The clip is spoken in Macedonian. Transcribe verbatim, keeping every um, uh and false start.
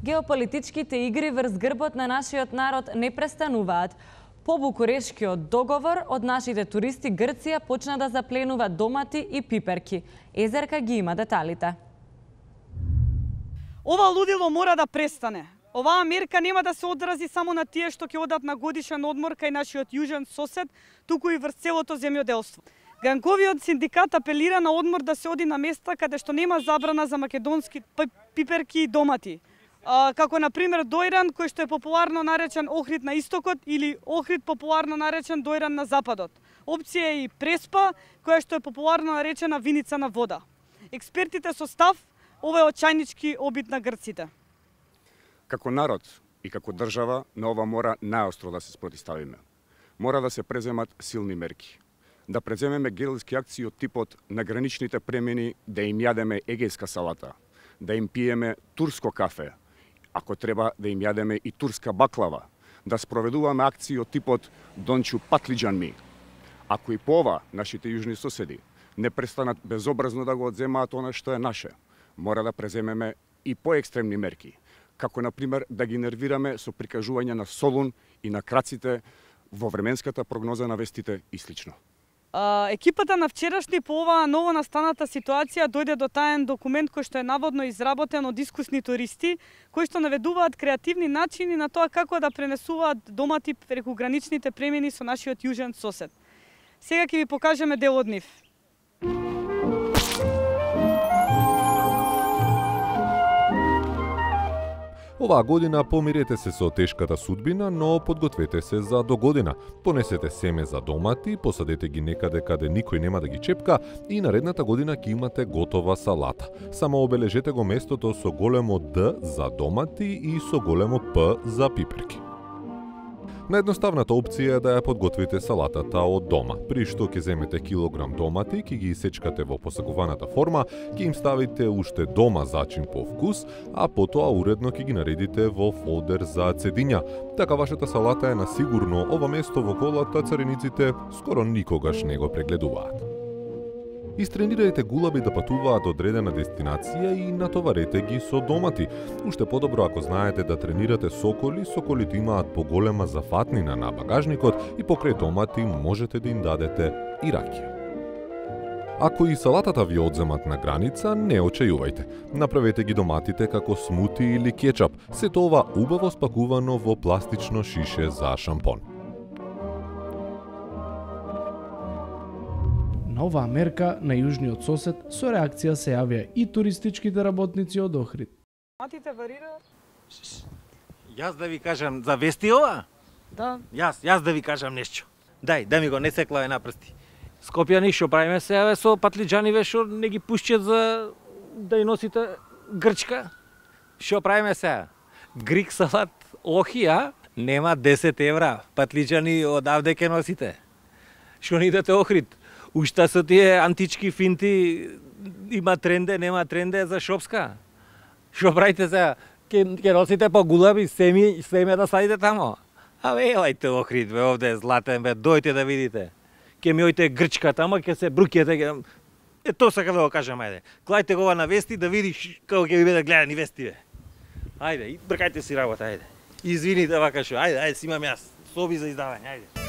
Геополитичките игри врз грбот на нашиот народ не престануваат. По Букурешкиот договор од нашите туристи Грција почна да запленува домати и пиперки. Езерка ги има деталите. Ова лудило мора да престане. Оваа мерка нема да се одрази само на тие што ќе одат на годишен одмор кај нашиот јужен сосед, туку и врз целото земјоделство. Ганковиот синдикат апелира на одмор да се оди на места каде што нема забрана за македонски пиперки и домати. А, како на пример дојран кој што е популарно наречен Охрид на истокот или Охрид популарно наречен дојран на западот. Опција е и преспа која што е популарно наречена виница на вода. Експертите со став ова е очајнички обид на грците. Како народ и како држава на ова мора најостро да се спротивставиме. Мора да се преземат силни мерки. Да преземеме геrilски акции од типот на граничните премини, да им јадеме егејска салата, да им пиеме турско кафе, ако треба да им јадеме и турска баклава, да спроведуваме акции од типот Дончу патлиџан ми. Ако и по ова нашите јужни соседи не престанат безобразно да го одземаат она што е наше, мора да преземеме и поекстремни мерки, како на пример да ги нервираме со прикажување на Солун и на краците во временската прогноза на вестите и слично. Uh, екипата на вчерашни по оваа ново настаната ситуација дојде до таен документ кој што е наводно изработен од искусни туристи, кои што наведуваат креативни начини на тоа како да пренесуваат домати преку граничните премини со нашиот јужен сосед. Сега ќе ви покажеме дел од нив. Оваа година помирете се со тешката судбина, но подгответе се за догодина. Понесете семе за домати, посадете ги некаде каде никој нема да ги чепка и наредната година ќе имате готова салата. Само обележете го местото со големо Д за домати и со големо П за пиперки. Наједноставната опција е да ја подготвите салатата од дома, при што ќе земете килограм домати, ќе ги исечкате во посакуваната форма, ќе им ставите уште дома зачин по вкус, а потоа уредно ќе ги наредите во фолдер за цедиња. Така вашата салата е на сигурно ова место во колата царениците скоро никогаш не го прегледуваат. Истренирајте гулаби да патуваат од одредена дестинација и натоварете ги со домати. Уште подобро ако знаете да тренирате соколи, соколите имаат поголема зафатнина на багажникот и покрај домати можете да им дадете и ракија. Ако и салатата ви одземат на граница, не очајувајте. Направете ги доматите како смути или кетчап, сето ова убаво спакувано во пластично шише за шампон. На оваа мерка на јужниот сосед со реакција се јавија и туристичките работници од Охрид. Матите варираат? Јас да ви кажам за вести ова? Да. Јас, јас да ви кажам нешто. Дај, да ми го не секлаве на прсти. Скопјани што правиме се јаве со патлиџани што не ги пушчат за да ја носите грчка. Што правиме се? Грик салат охи, а? Нема десет евра. Патлиџани одавде ке носите. Што не идете Охрид? Ушта со тие антички финти има тренде, нема тренде за шопска. Што правите сега? Ке, ке носите по гулаби, семи, семе да садите тамо. А бе, елајте Охрид, бе, овде е златен, бе, дојте да видите. Ке ми ојте грчка тамо, ке се брукјете, ке... Е, то сака да го кажам, ајде. Клајте го ова на вести да видиш како ќе ви биде гледани вести, бе. Ајде, бркајте си работа, ајде. Извините вака шо, ајде, ајде, си имам јас. Соби за издавање, ајде.